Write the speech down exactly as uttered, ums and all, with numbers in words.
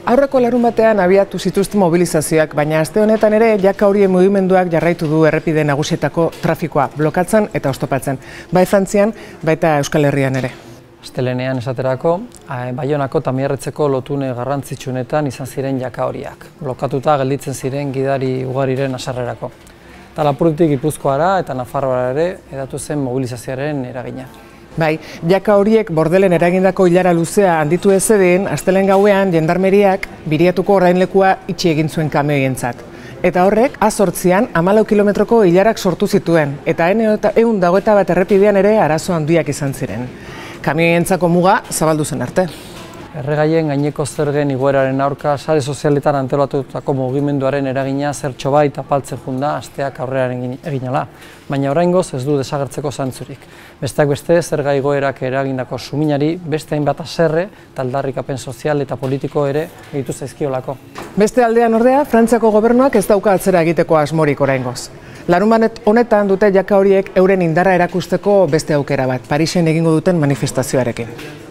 Aurreko larun batean abiatu zituzten mobilizazioak, baina aste honetan ere jaka horien mugimenduak jarraitu du errepide nagusietako trafikoa blokatzen eta oztopatzen. Bai Frantzian, baita Euskal Herrian ere. Astelehenean esaterako, Baionako eta Mierretzeko lotune garrantzitsunetan izan ziren jaka horiak. Blokatuta gelditzen ziren gidari ugariren haserrerako. Eta Lapurditik Gipuzkoara eta Nafarroara ere edatu zen mobilizazioaren eragina. Bai, jaka horiek bordelen eragindako ilara luzea handitu ezeden, astelehen gauean jendarmeriak biriatuko orainlekua itxi egin zuen kamioientzat. Eta horrek, azortzian, hamalau kilometroko ilarak sortu zituen, eta ehun eta hogeita bat errepidean ere arazo handiak izan ziren. Kamioientzako muga zabaldu zen arte. Erregaien gaineko zergen igoeraren aurka sare sozialetan antolatutako mugimenduaren eragina zertxo bait apaltzen junda asteak aurrearen eginala, baina oraingoz ez du desagertzeko zantzurik. Besteak beste, zerga igoerak eragindako suminari beste hainbat haserre eta aldarrikapen sozial eta politiko ere egitu zaizkiolako. Beste aldean ordea, Frantziako gobernuak ez dauka atzera egiteko asmorik oraingoz. Larunbat honetan dute jaka horiek euren indarra erakusteko beste aukera bat, Parisen egingo duten manifestazioarekin.